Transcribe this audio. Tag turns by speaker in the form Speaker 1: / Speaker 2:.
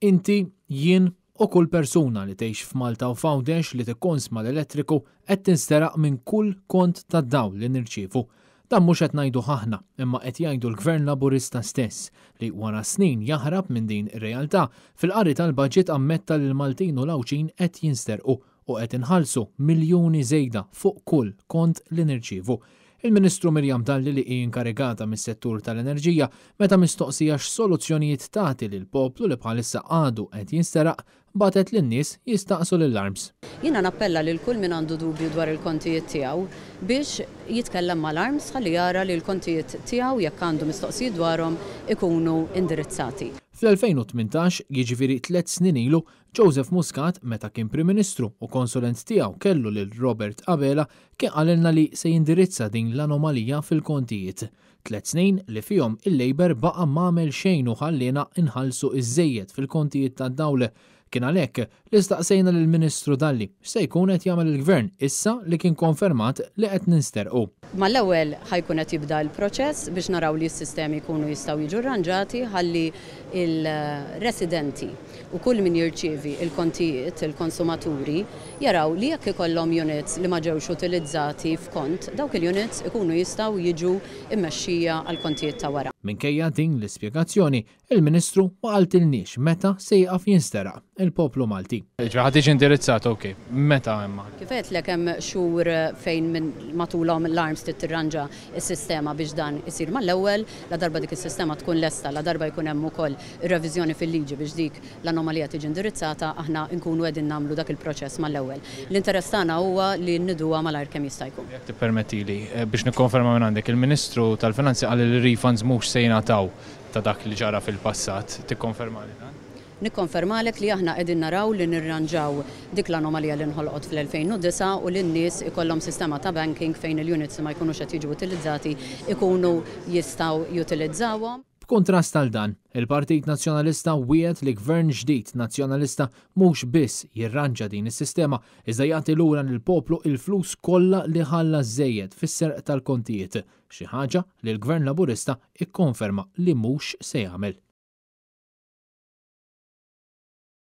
Speaker 1: Inti, jien u kull persuna li tgħix f'Malta u f'Għawdex li tikkonsma l-elettriku qed tinsteraq minn kull kont tad-dawl li nirċievu. Dan mhux qed ngħiduh aħna, imma qed jgħidu l-Gvern Laburista stess, li wara snin jaħrab minn din ir-realtà, fil-qari tal-budget ammetta li l-Maltin u l-Għawdxin qed jinsterqu u qed inħallsu miljuni żejda fuq kull kont li nirċievu. Il-Ministru Miriam Dalli li hi inkarigata mis-settur tal-enerġija, meta mistoqsija x'soluzzjonijiet tagħti lill-poplu li bħalissa għadu qed jinsteraq, bagħtet lin-nies jistaqsu lill-ARMS.
Speaker 2: Jiena nappella lil kull min għandu dubju dwar il-kontijiet tiegħu biex jitkellem mal-ARMS ħalli jara li l-kontijiet tiegħu jekk għandu mistoqsijiet dwarhom ikunu indirizzati.
Speaker 1: Fl-2018, jiġifieri tlett snin ilu, Joseph Muscat, meta kien Prim Ministru u konsulent tiegħu kellu lil Robert Abela, kien qalilna li se jindirizza din l-anomalija fil-kontijiet. Tlett snin li fihom il-Labour baqa' m'għamel xejn u ħalliena nħallsu iż-żejjed fil-kontijiet tad-dawl. Kien għalhekk li staqsejna lill-Ministru Dalli x'se jkun qed jagħmel il-Gvern issa li kien konfermat li qed ninsterqu.
Speaker 2: Mal-ewwel ħa jkun qed jibda l-proċess biex naraw li s-sistemi jkunu jistgħu jiġu rranġati ħalli l-residenti u kull min jirċievi l-kontijiet, il-konsumaturi, jaraw li jekk ikollhom units li ma ġewx utilizzati f'kont, dawk il-units ikunu jistgħu jiġu mmexxija għall-kontijiet ta' wara.
Speaker 1: Minkejja din l-ispjegazzjoni, il-Ministru ma qaltilniex meta se jieqaf jinsteraq il-poplu Malti. Jiġifieri ħa tiġi indirizzata, ok. Meta imma?
Speaker 2: Kif għedtlek hemm xhur fejn minn matulhom l-ARMS trid tirranġa s-sistema biex dan isir mal-ewwel, ladarba dik is-sistema tkun lesta, ladarba jkun hemm ukoll ir-reviżjoni fil-liġi biex dik l-anomalija tiġi indirizzata, aħna nkunu qegħdin nagħmlu dak il-proċess mal-ewwel. L-interess tagħna huwa li nniduha malajr kemm jista' jkun.
Speaker 1: Jekk tippermettili, biex nikkonferma minn għandek, il-Ministru tal-Finanzi qal li r-refunds mhux se jingħataw ta' dak li ġara fil-passat. Tikkonfermali dan?
Speaker 2: Nikkonfermalek li aħna qegħdin naraw li nirranġaw dik l-anomalija li nħolqot fl-2009 u li n-nies ikollhom sistema ta' banking fejn il-units li ma jkunux qed jiġu utilizzati jkunu jistgħu jutilizzawhom.
Speaker 1: B'kuntrast għal dan, il-Partit Nazzjonalista wiegħed li Gvern ġdid Nazzjonalista mhux biss jirranġa din is-sistema iżda jagħti lura lill-poplu il-flus kollha li ħalla żejjed fis-serq tal-kontijiet, xi ħaġa li l-Gvern Laburista kkonferma li mhux se jagħmel.